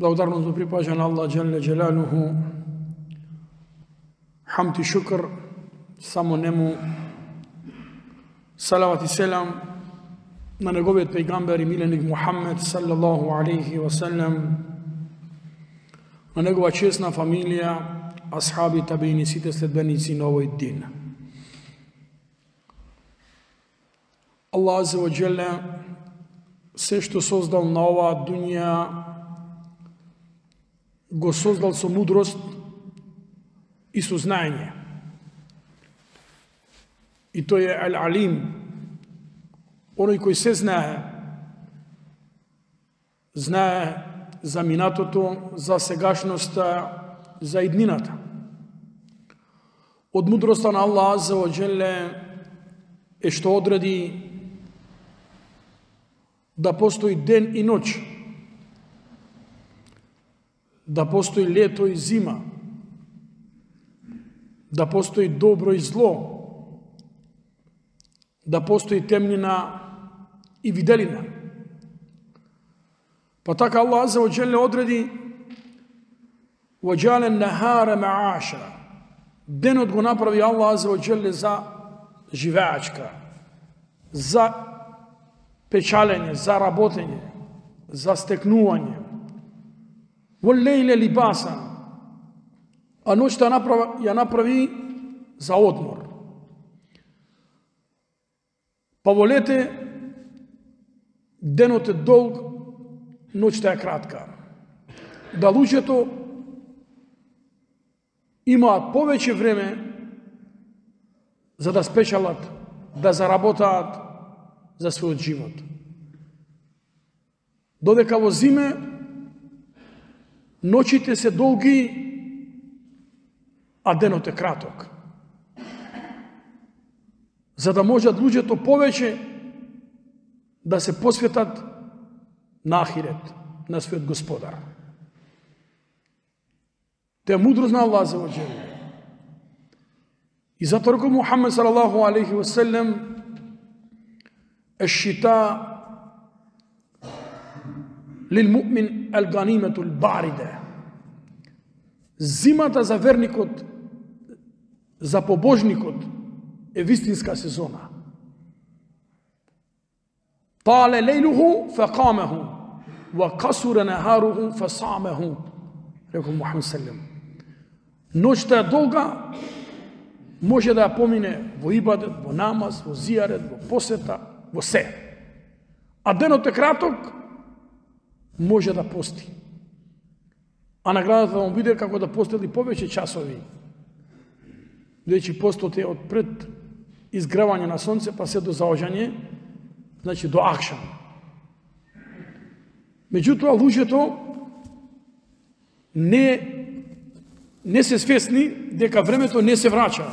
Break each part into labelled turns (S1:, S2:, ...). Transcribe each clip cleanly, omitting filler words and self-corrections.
S1: Благодарност му припаѓа на Аллах Джелле Джелалуху, хамд и шукр само нему, салават и селам на неговиот пејгамбер и миленик Мухаммед саллаллаху алейхи ва салlam, на негова чесна фамилија, асхаби, табини, сите следбеници на овој дин. Аллах Аззе ва Джелле се што создал на оваа дуња го создал со мудрост и со знаење. И тој е Ал-Алим, оној кој се знае. Знае за минатото, за сегашноста, за иднината. Од мудроста на Аллах Аззе ва Джелле е што одреди да постои ден и ноќ, да постои лето и зима, да постои добро и зло, да постои темнина и виделина. Па така Аллах Аззе ва Джелле одреди وَجَعَلَ النَّهَارَ مَعَاشًا. Денот го направи Аллах Аззе ва Джелле за живеачка, за печалење, за работење, за стекнување. وَاللَّيْلَ لِبَاسًا. А ноќта ја направи за одмор. Па во лете денот е долг, ноќта е кратка. Да луѓето имаат повеќе време за да спечалат, да заработаат за својот живот. Додека во зиме ноќите се долги, а денот е краток. За да можат луѓето повеќе да се посветат на ахирет, на својот Господар. Те е мудрост на Аллах Аззе ва Джелле. И затоа рекол Мухаммед салаллаху алейхи ва салlam, الشتاء للمؤمن الغنيمة الباردة. Зимата за верникот, за побожникот е вистинска сезона. طال ليله فقامه وقصر نهاره فصامه. Рекол Мухаммед саллем. Ноќта е долга, може да ја помине во ибадет, во намаз, во зијарет, во посета, во се. А денот е краток, може да пости. А наградата да му биде како да постели повеќе часови. Бидејќи постот е од пред изгревање на сонце па се до заоѓање, значи до акшам. Меѓутоа луѓето не се свесни дека времето не се врача.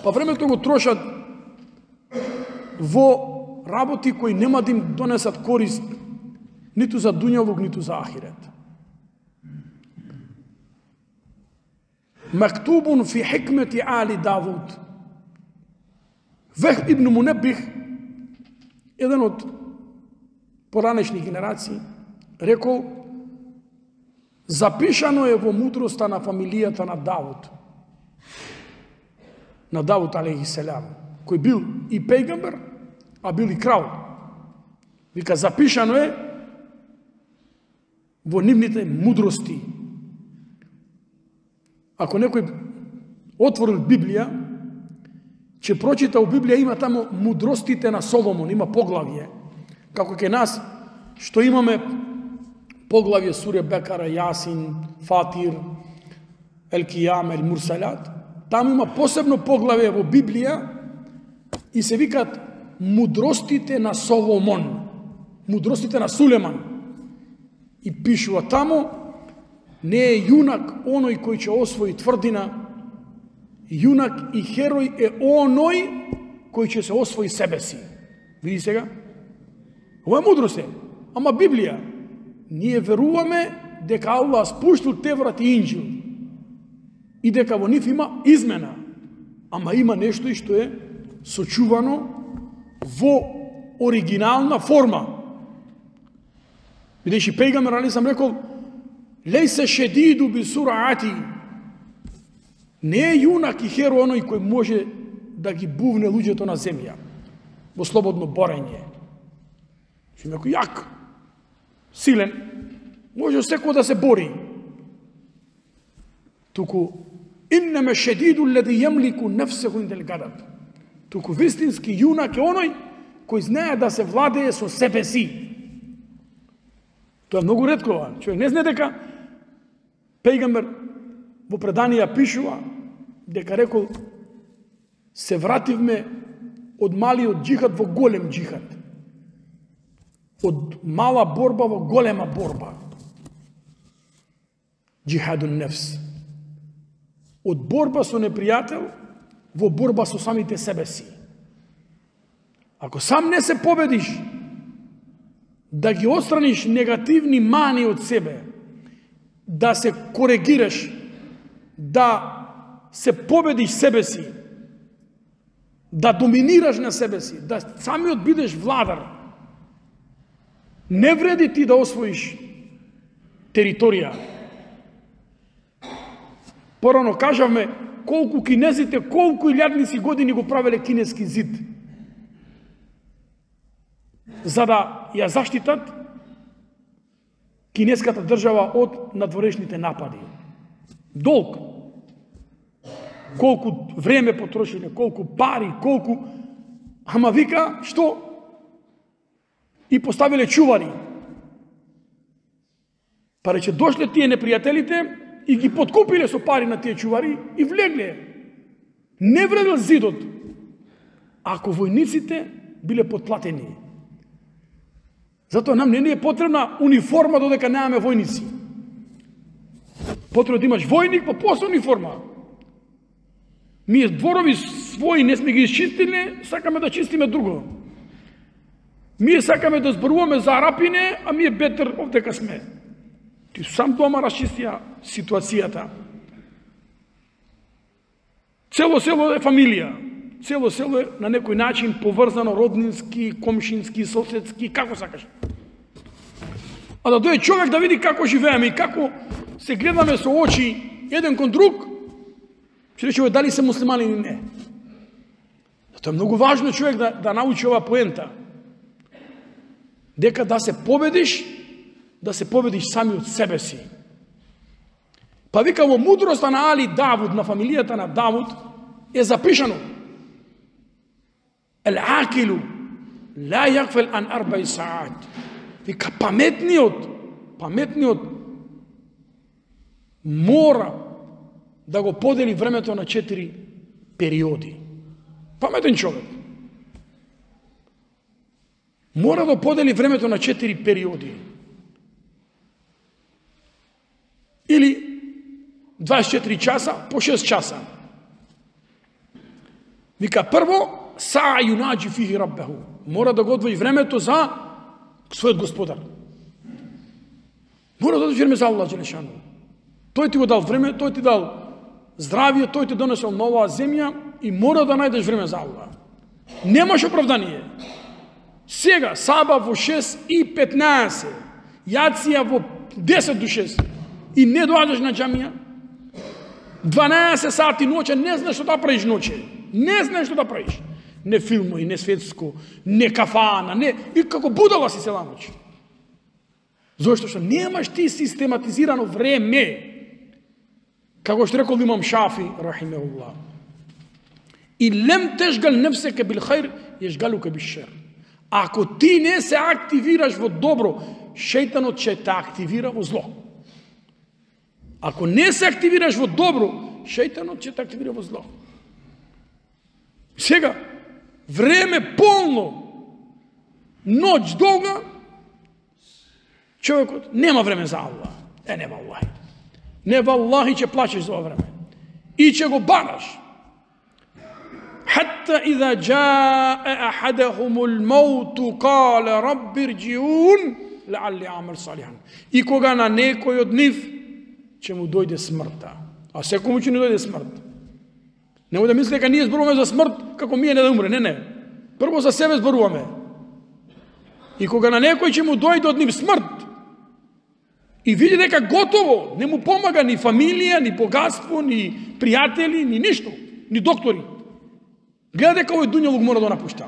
S1: Па времето го трошат во работи кои нема да им донесат корист ниту за дуњалук, ниту за ахирет. Мактубун фи хикмети али Давуд. Вехб ибн Мунеббих, еден од поранешни генерации, рекол: запишано е во мудроста на фамилијата на Давуд. На Давуд алейхи селам, кој бил и пејгамбер, а бил и крал. Вика, запишано е во нивните мудрости. Ако некој отворил Библија, ќе прочита у Библија, има тамо мудростите на Соломон, има поглавје. Како ке нас, што имаме поглавје Суре Бекара, Јасин, Фатир, Ел-Кијам, Ел-Мурсалат, таму има посебно поглавје во Библија и се викат мудростите на Соломон, мудростите на Сулеман. И пишува тамо, не е јунак оној кој ќе освои тврдина, јунак и херој е оној кој ќе се освои себе си. Види сега? Ова е мудрост е. Ама Библија, ние веруваме дека Аллах спуштил Теврат и Инџил и дека во нив има измена. Ама има нешто и што е сочувано во оригинална форма. Бидејќи пејгамбер алейхи салам рекол: Лейсе шедиду би сураати. Не е јунак и херо оној кој може да ги бувне луѓето на земја во слободно борење. Што некој јак, силен, може секој да се бори. Туку иннема шедиду леди јемлику нефсеху индел гадаб. Туку вистински јунак е оној кој знае да се владее со себе си. Тоа е многу ретко. Човек не знае дека пејгамбер во преданија пишува дека рекол се вративме од малиот джихад во голем джихад. Од мала борба во голема борба. Джихадун нефс. Од борба со непријател во борба со самите себе си. Ако сам не се победиш, да ги отстраниш негативни мани од себе, да се коригираш, да се победиш себе си, да доминираш на себе си, да самиот бидеш владар, не вреди ти да освоиш територија. Порано кажавме колку кинезите, колку илјадници години го правеле кинески зид, за да ја заштитат кинеската држава од надворешните напади. Долг. Колку време потрошиле, колку пари, колку... Ама вика, што? И поставиле чувари. Па рече, дошле тие непријателите и ги подкупиле со пари на тие чувари и влегле. Не вредел зидот, ако војниците биле подплатени. Затоа нам не е потребна униформа додека немаме војници. Потребно да имаш војник, па после униформа. Ние дворови своји не сме ги изчистиле, сакаме да чистиме друго. Ние сакаме да зборуваме за арапине, а ми е бетер овдека сме. Ти сам дома расчистија ситуацијата. Цело село е фамилија. Цело село е на некој начин поврзано роднински, комшински, соседски, како сакаш. А да дојде човек да види како живееме и како се гледаме со очи еден кон друг, ќе рече дали се муслимани или не. Тоа е многу важно човек да научи ова поента. Дека да се победиш самиот себе си. Па вика во мудроста на Али Давуд, на фамилијата на Давуд, е запишано: Ел-акилу ла јакфел ан арбаи саат. Вика паметниот мора да го подели времето на 4 периоди. Паметен човек мора да подели времето на 4 периоди. Или 24 часа по 6 часа. Вика прво, са юнаджи фихи раббеху. Мора да го одвои времето за својот господар. Мора да одвои време за Аллах Джелешану. Тој ти го дал време, тој ти дал здравие, тој ти донесел на оваа земја и мора да најдеш време за Аллах. Немаш оправдание. Сега, саба во 6:15, јација во 10 до 6 и не доаѓаш на џамија, 12 сати ноќе, не знаеш што да правиш ноќе. Не знаеш што да правиш. Не филмови, не светско, не кафана, не... И како будала си цела ноќ. Зошто што немаш ти систематизирано време. Како што рекол имам Шафи, рахимехуллах. И лем тешгал нефсеке бил хајр, ешгалуке бил шер. Ако ти не се активираш во добро, шејтанот ќе те активира во зло. Ако не се активираш во добро, шејтанот ќе те активира во зло. Сега, време полно, ноќ долга, човекот нема време за Аллах. Не валлахи. Не валлахи ќе плачеш за ова време. И ќе го бараш. Хатта иза джаа ахадахумул мауту кале рабби рџиун лаалли амел салихан. И кога на некој од нив ќе му дојде смртта. А секому ќе не дојде смрт. Нема да мисли дека ние зборуваме за смрт како ние не да умре. Не. Прво за себе зборуваме. И кога на некој ќе му дојде од нив смрт, И види дека готово, не му помага ни фамилија, ни богатство, ни пријатели, ни ништо, ни доктори. Гледа дека овој дуњалук мора да напушта.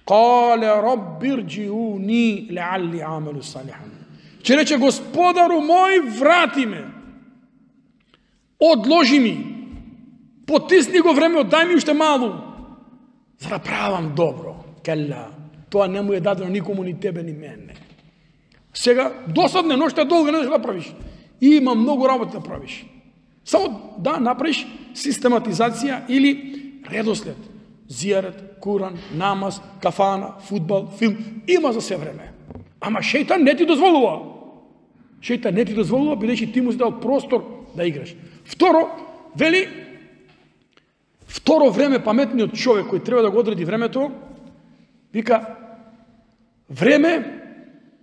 S1: Кале рабби рџиуни леалли амелу салихан. Че рече, Господару мој, врати ме. Одложи ми. Потисни го време, дај ми уште малу. За да правам добро. Келла. Тоа не му е дадено никому, ни тебе, ни мене. Сега, досадне, ношта е долга, не да правиш. И има многу работа да правиш. Само да направиш систематизација или редослед. Зијарет, Куран, намаз, кафана, фудбал, филм. Има за се време. Ама шејтан не ти дозволува. Шејтан не ти дозволува, бидејќи ти му си дал простор да играш. Второ, вели, второ време, паметниот човек кој треба да го одреди времето, вика, време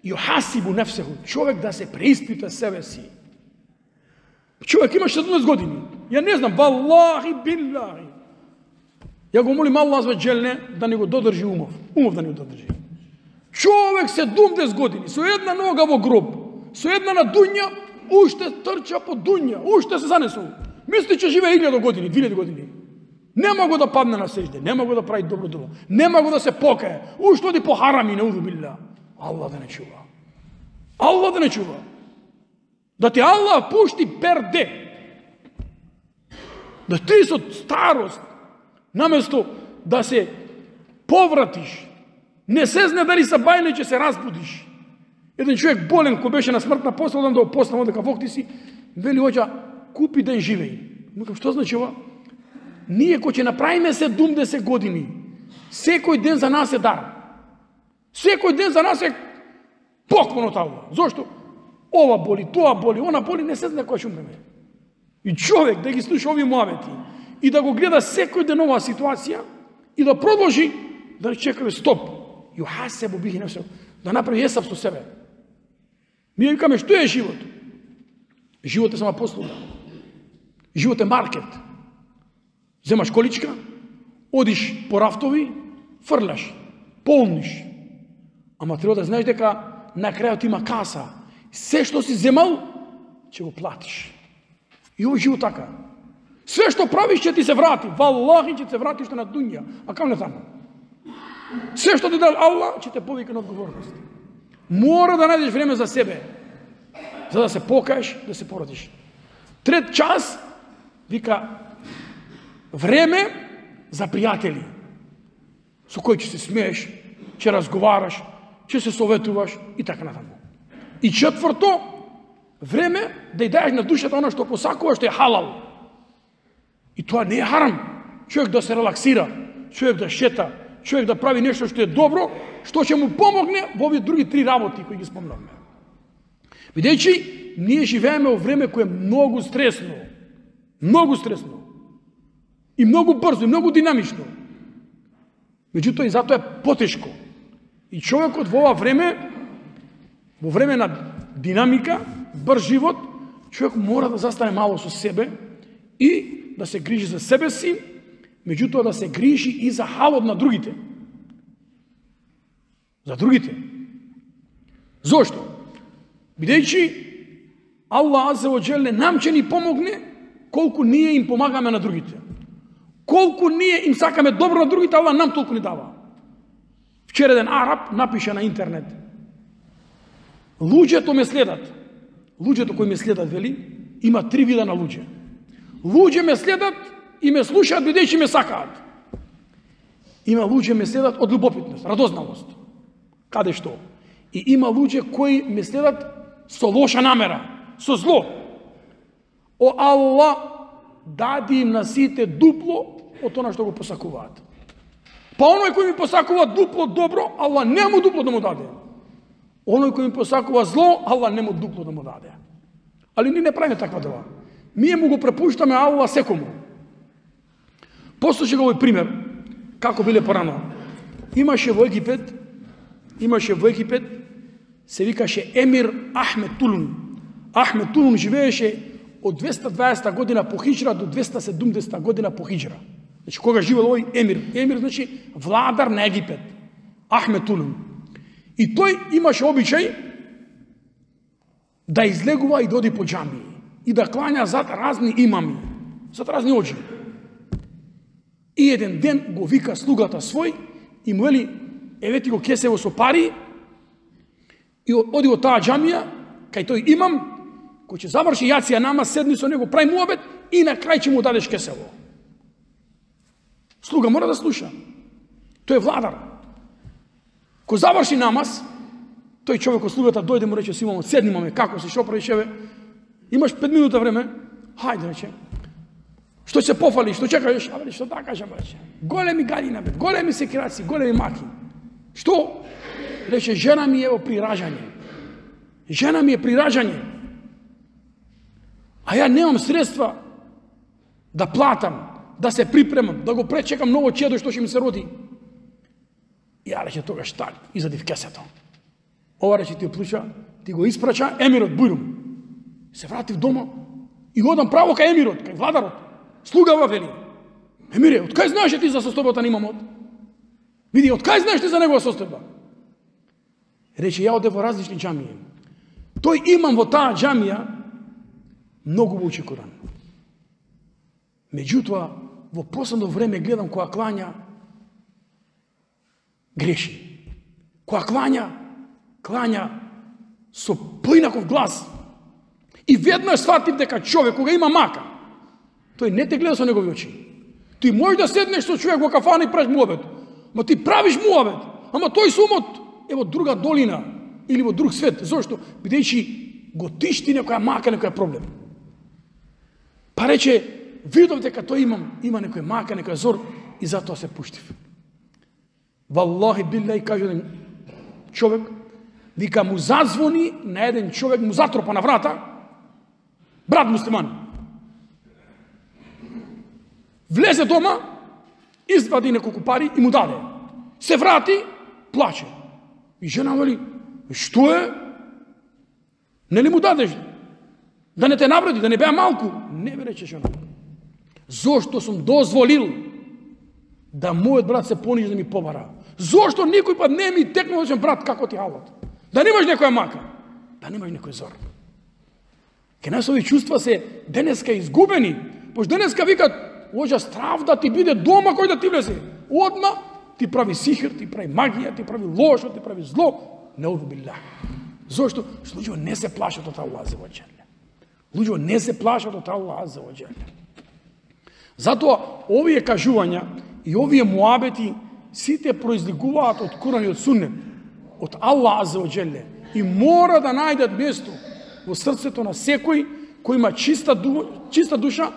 S1: јухасибу нефсеху, човек да се преиспита себе си. Човек има 17 години. Ја не знам, валлахи биллахи. Ја го молим Аллах за джелне да не го додржи умов. Умов да не го додржи. Човек 17 години, со една нога во гроб, со една на дуња, уште трча по дуња, уште се занесува. Мисли, че живее 1000 години, 2000 години. Нема го да падне на сежде, нема го да прави добро дело, нема го да се покае, уште оди по харами, неуду билла. Аллах да не чува. Аллах да не чува. Да ти Аллах пушти перде. Да ти со старост, наместо да се повратиш, не се зне дали са бајле, че се разбудиш. Еден човек болен, кој беше на смртна посла, да го послам дека Бог ти си, вели оđа, купи ден живеј. Мукам, што значи ова? Ние кој ќе направиме 70 години, секој ден за нас е дар. Секој ден за нас е поклон од Аллах. Зошто? Ова боли, тоа боли, она боли, не се знае која ќе умреме. И човек да ги слуша овие муавети и да го гледа секој ден оваа ситуација и да продолжи да чекаме стоп. Јухасебу бихи нефсеху, да направи есап со себе. Ние викаме, што е живот? Живот е само послуга. Живот е маркет. Земаш количка, одиш по рафтови, фрляш, полниш. Ама треба да знаеш дека на крајот има каса. Се што си земал, ќе го платиш. И овој живот така. Се што правиш ќе ти се врати. Валлахи ќе се врати што на дуња. А кам не таму? Се што ти дал Аллах, ќе те повика на одговорност. Мора да најдеш време за себе. За да се покаеш, да се породиш. Трет час, вика, време за пријатели. Со кој ќе се смееш, ќе разговараш, ќе се советуваш и така натаму. И четврто, време да ја даеш на душата она што посакуваш, што е халал. И тоа не е харам. Човек да се релаксира, човек да шета, човек да прави нешто што е добро, што ќе му помогне во овие други три работи кои ги спомнавме. Бидејќи ние живееме во време кое е многу стресно. Многу стресно. И многу брзо, и многу динамично. Меѓутоа и затоа е потешко. И човекот во ова време, во време на динамика, брз живот, човек мора да застане мало со себе и да се грижи за себе си, меѓутоа да се грижи и за халот на другите. За другите. Зошто? Бидејќи Аллах азza ва џеле нам ќе ни помогне колку ние им помагаме на другите. Колку ние им сакаме добро на другите, Аллах нам толку ни дава. Вчера еден араб напиша на интернет: луѓето ме следат. Луѓето кои ме следат, вели, има три вида на луѓе. Луѓе ме следат и ме слушаат бидејќи ме сакаат. Има луѓе ме следат од љубопитност, радозналост. Каде што? И има луѓе кои ме следат со лоша намера, со зло. О Аллах, дади им на сите дупло од она што го посакуваат. Па оној кој ми посакува дупло добро, Аллах не му дупло да му даде. Оној кој ми посакува зло, Аллах не му дупло да му даде. Али ние не правиме таква дела. Ние му го препуштаме Аллах секому. Послушај го овој пример, како биле порано. Имаше во Египет, се викаше Емир Ахмед Тулун. Ахмед Тулун живееше од 220 година по хиџра до 270 година по хиџра. Значи, кога живел овој Емир? Емир значи владар на Египет. Ахмед Тулун. И тој имаше обичај да излегува и да оди по џамии и да клања зад разни имами, зад разни оџи. И еден ден го вика слугата свој и му вели, еве ти го кесево со пари и оди во таа џамија, кај тој имам, кој ќе заврши јација намаз, седни со него, прави муабет и на крај ќе му дадеш кесево. Слуга мора да слуша. Тој е владар. Ко заврши намаз, тој човек од слугата дојде му рече, Симон, седни маме, како си, шо правиш, еве, имаш 5 минута време, хајде, рече. Што се пофали, што чекаш? А што да кажам, рече. Големи галина, бе, големи секираци, големи маки. Што? Рече, жена ми е при ражање. Жена ми е при раѓање. А ја немам средства да платам, да се припремам, да го пречекам ново чедо што ќе ми се роди. Ја рече тогаш стани, изади в кесето. Ова рече ти оплуча, ти го испрача емирот Бујрум. Се вратив дома и одам право кај емирот, кај владарот. Слугава вели. Емире, од кај знаеш ти за состојбата на имамот? Види, од кај знаеш ти за негова состојба? Рече, ја одев во различни џамии. Тој имам во таа џамија многу го учи Коран. Меѓутоа, во последно време гледам која клања греши. Која клања со поинаков глас. И веднаш сватив дека човек кога има мака, тој не те гледа со негови очи. Ти можеш да седнеш со човек во кафана и правиш муабет. Ма ти правиш муабет, ама тој со умот е во друга долина или во друг свет. Зошто? Бидејќи го тишти некоја мака, некоја проблем. Па рече, видов дека тој има некој мака, некој зор и затоа се пуштив. Валлахи билляхи, каже еден човек, вика му зазвони на еден човек, му затропа на врата, брат муслиман. Влезе дома, извади неколку пари и му даде. Се врати, плаче. И жена вели, што е? Не ли му дадеш? Да не те навреди, да не беа малку? Не бе, рече жена. Зошто сум дозволил да мојот брат се понижи да ми побара? Зошто никој пат не ми текнал да брат, како ти халот? Да немаш некоја мака, да немаш некој зор. Ке нас ови чувства се денеска изгубени, пош денеска викат, оđа страв да ти биде дома кој да ти влезе. Одма ти прави сихир, ти прави магија, ти прави лошо, ти прави зло. Неуду билlah. Зошто? Што луѓето не се плашат од Аллах азza ва џеле. Луѓето не се плашат од Аллах азza ва џеле. Затоа овие кажувања и овие муабети сите произлегуваат од Куран и од Суннет, од Аллах азza ва џеле, и мора да најдат место во срцето на секој кој има чиста душа